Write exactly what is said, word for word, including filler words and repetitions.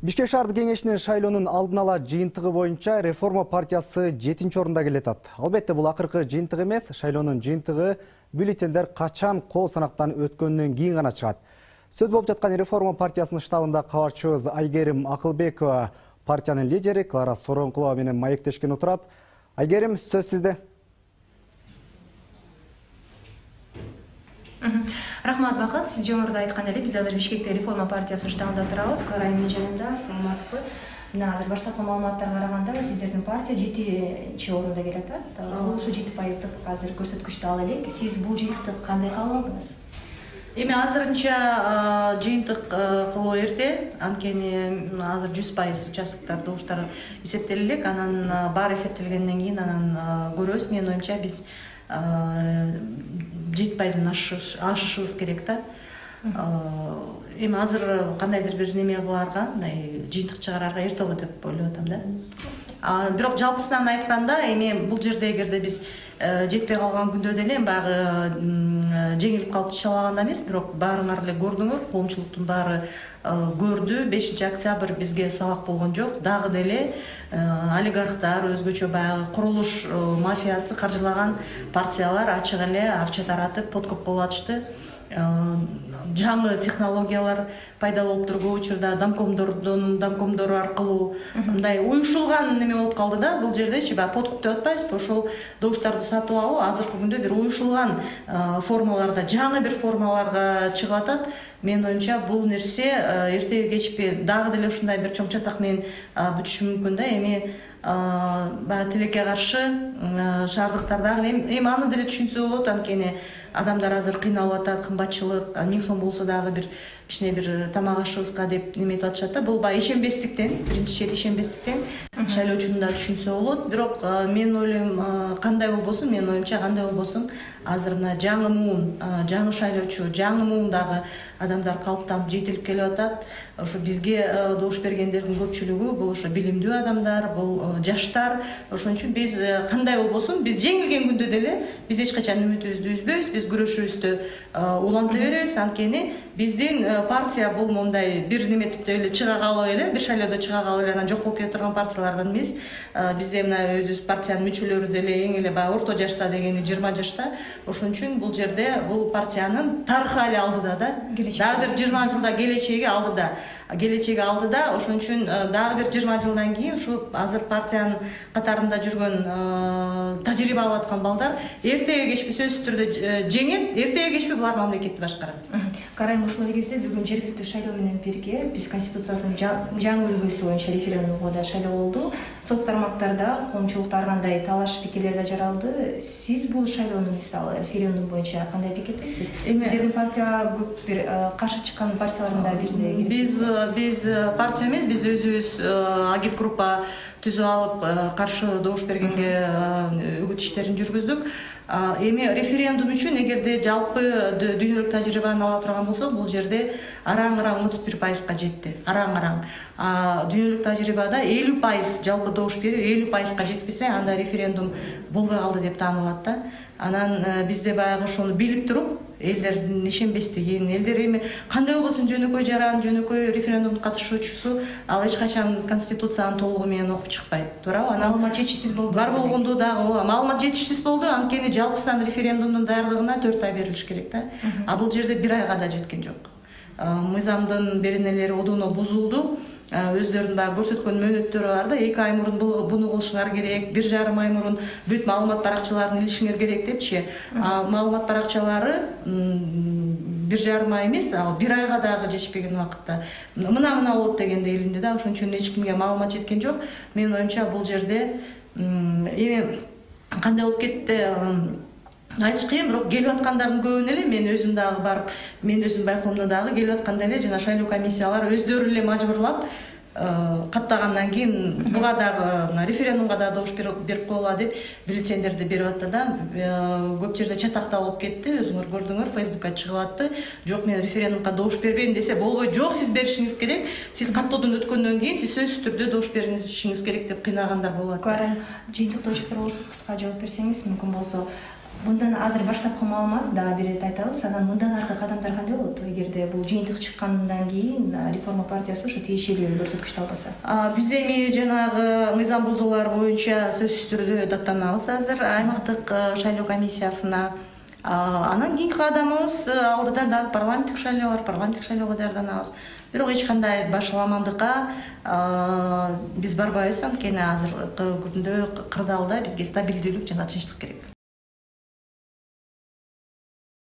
Бишкек шаардык кеңешинин шайлоонун алдын ала жыйынтыгы боюнча Реформа партиясы жетинчи орунда келатат. Албетте бул акыркы жыйынтык эмес, шайлоонун жыйынтыгы бюллетендер качан кол санактан өткөндөн кийин гана чыгат. Сөз болуп жаткан Реформа партиясынын штабында кабарчыбыз Айгерим Акылбекова партиянын лидери Клара Соронкулова менен маектешкен отурат. Айгерим, сөз сизде. Рахмат, Бакыт. Сиз жогоруда айткан эле, биз азыр Бишкекте Реформа партиясынын штабында турабыз. Клара менин жанымда, саламатсызбы? Мына азыр баштапкы маалыматтарга караганда сиздердин партия жетинчи орунда келатат. Бул ушу жети пайыздык азыр көрсөткүчтү ала элек. Сиз бул жыйынтыкты кандай кабыл алдыңыз? Эми азырынча жыйынтык кылуу эрте, анткени азыр жүз пайыз участоктор добуштар эсептеле элек, анан баары эсептелгенден кийин анан көрөбүз. Менин оюмча биз жети пайыздан ашышыбыз керек да. Эми азыр кандайдыр бир неме кылаарга, мындай жыйынтык чыгарарга эрте болот деп ойлоп атам да. Бирок жалпысынан айтканда, эми бул жерде эгерде биз жетпей калган күндө деле баягы жеңилип калып чалаганда эмес, бирок баарыңар эле көрдүңөр, коомчулуктун баары көрдү. бешинчи октябрь бизге сабак болгон жок. Дагы деле олигархтар, өзгөчө баягы курулуш мафиясы каржылаган партиялар ачык эле акча таратып, подкуп кылып атышты. Жаңы технологиялар пайда болуп туруп, көп учурда домкомдордун домкомдору аркылуу мындай уюшулган неме болуп калды да. Бул жердечи баягы подкуп деп атпайбызбы, ошол добуштарды сатып алуу азыркы күндө бир уюшулган формаларда, жаңы бир формаларга чыгып атат. Менин оюмча бул нерсе эртеби кечпи дагы деле ушундай бир чоң чатак менен бүтүшү мүмкүн да. Эми баягы тилекке каршы шаардыктардагы эми аны деле түшүнсө болот, анткени адамдар азыр кыйналып атат, кымбатчылык, миң сом болсо дагы бир кичине бир тамак ашыбызга деп неметип атышат да. Бул баягы ишенбестиктен, биринчи чет ишенбестиктен шайлоочунун да түшүнсө болот. Бирок мен ойлойм, кандай болбосун, менин оюмча кандай болбосун, азыр мына жаңы муун, жаңы шайлоочу, жаңы муундагы адамдар калыптанып жетилип келип атат. Ошо бизге добуш бергендердин көпчүлүгү бул ошо билимдүү адамдар, бул жаштар. Ошон үчүн биз кандай болбосун, биз жеңилген күндө деле биз эч качан үмүтүбүздү үзбөйбүз, биз күрөшүбүздү уланта беребиз. Анткени биздин партия бул мондай бир неметип эле чыга калып эле, бир шайлоодо чыга калып эле анан жок болуп кете турган партиялардан эмес. Бизде мына өзүбүз партиянын мүчөлөрү деле эң эле баягы орто жашта дегени жыйырма жашта. Ошон үчүн бул жерде бул партиянын тарыхы али алдыда да. Дагы бир жыйырма жылда келечеги алдыда. Келечеги алдыда. Ошон үчүн дагы бир жыйырма жылдан кийин ушу азыр партиянын катарында жүргөн тажрыйба алып аткан балдар эртеби кечпи сөзсүз түрдө жеңет, эртеби кечпи булар мамлекетти башкарат. Карайм, ушул эле кезде бүгүн жергиликтүү шайлоо менен бирге биз Конституциясынын жаңы үлгүсү боюнча референдумга да шайлоо болду. Соц тармактарда коомчулукта ар кандай талаш пикирлер да жаралды. Сиз бул шайлоонун мисалы референдум боюнча кандай пикирдесиз? Сиздердин партия көп бир каршы чыккан партиялардын да бирине. Биз биз партия эмес, биз өзүбүз агит группа түзүп алып каршы добуш бергенге үгүт иштерин жүргүздүк. Эми референдум үчүн эгерде жалпы дүйнөлүк тажрыйбаны ала турган болсок, бул жерде араң-араң отуз бир пайызга жетти. Араң-араң. Дүйнөлүк тажрыйбада элүү пайыз жалпы добуш берүү элүү пайызга жетпесе, анда референдум болбой калды деп таанылат да. Анан бизде баягы ошону билип туруп, элдердин ишенбестигин, элдер эми кандай болбосун жөнөкөй жаран, жөнөкөй референдумдун катышуучусу, ал эч качан Конституцияны толугу менен окуп чыкпайт, туурабы? Анан маалымат жетишсиз болду. Бар болгондо дагы маалымат жетишсиз болду, анткени жалпысынан референдумдун даярдыгына төрт ай берилиш керек да. А бул жерде бир айга да жеткен жок. Мыйзамдын беренелери одуно бузулду. Өздөрүнүн баягы көрсөткөн мөөнөттөрү бар да, эки ай мурун буну кылышыңар керек, бир жарым ай мурун бүт маалымат баракчаларын илишиңер керек депчи. Маалымат баракчалары бир жарым ай эмес, бир айга дагы жетишпеген убакытта мына-мына болот дегенде илинди да. Ошон үчүн эч кимге маалымат жеткен жок. Менин оюмча бул жерде эми кандай болуп кетти айтыш кыйын, бирок келип аткандардын көбүн эле мен өзүм дагы барып, мен өзүм байкоомдо дагы келип атканда эле жана шайлоо комиссиялары өздөрү эле мажбурлап каттагандан кийин буга дагы референдумга дагы добуш берип коела деп бюллетендерди берип атты да. Көп жерде чатакта болуп кетти, өзүңөр көрдүңөр, Фейсбукка чыгып атты. Жок, мен референдумга добуш бербейм десе болбойт. Жок, сиз беришиңиз керек. Сиз каттоодон өткөндөн кийин сиз сөзсүз түрдө добуш беришиңиз керек деп кыйнагандар болот. Карайм, жыйынтыкты ойчосор болсо кыска жооп берсеңиз мүмкүн болсо. мындан азыр баштапкы маалымат дагы бир ирет айтабыз, анан мындан аркы кадамдар кандай болот эгерде бул жыйынтык чыккандан кийин реформа партиясы ошо тиешелүү көрсөткүчтү албаса? Биз эми жанагы мыйзам бузуулар боюнча сөзсүз түрдө даттанабыз азыр аймактык шайлоо комиссиясына. Анан кийинки кадамыбыз алдыда дагы парламенттик шайлоо бар, парламенттик шайлоого даярданабыз. Бирок эч кандай башаламандыкка биз барбайбыз, анткени азыркы күндө кырдаалда бизге стабилдүүлүк жана тынчтык керек.